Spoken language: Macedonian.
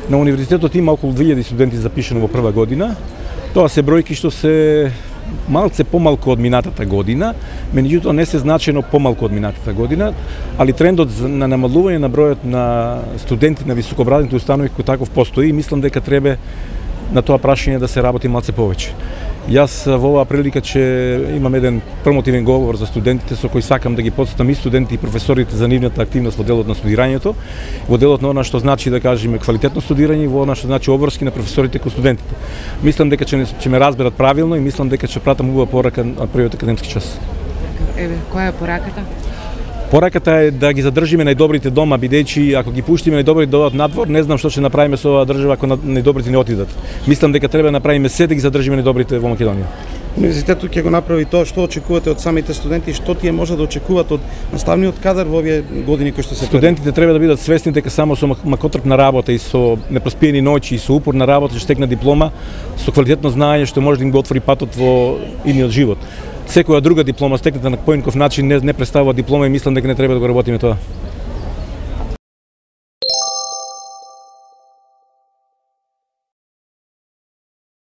На универзитетот има околу 2000 студенти запишани во прва година. Тоа се бројки што се малце помалку од минатата година, меѓутоа не се значено помалку од минатата година, али трендот на намалување на бројот на студенти на високообразовни установи кој таков постои и мислам дека треба на тоа прашање да се работи малце повеќе. Јас во оваа прилика ќе имам еден промотивен говор за студентите со кој сакам да ги потстам и студентите и професорите за нивната активност во делот на студирањето, во делот на она што значи да кажеме квалитетно студирање и во она што значи обврски на професорите кон студентите. Мислам дека ќе ме разберат правилно и мислам дека ќе пратам убава порака на првиот академски час. Еве, која е пораката? Пораката е да ги задржиме најдобрите дома, бидејќи ако ги пуштиме најдобрите да одат надвор, не знам што ќе направиме со оваа држава ако најдобрите не отидат. Мислам дека треба да направиме се да ги задржиме најдобрите во Македонија. Универзитетот ќе го направи тоа што очекувате од самите студенти, што тие може да очекуваат од наставниот кадар во овие години кои што се студентите треба да бидат свесни дека само со макотрпна работа и со непроспиени ноќи и со упорна работа ќе стекнат диплома со квалитетно знаење што може да им го отвори патот во идниот живот. Секоја друга диплома стекната на поинков начин не представува диплома и мислам дека не треба да го работиме тоа.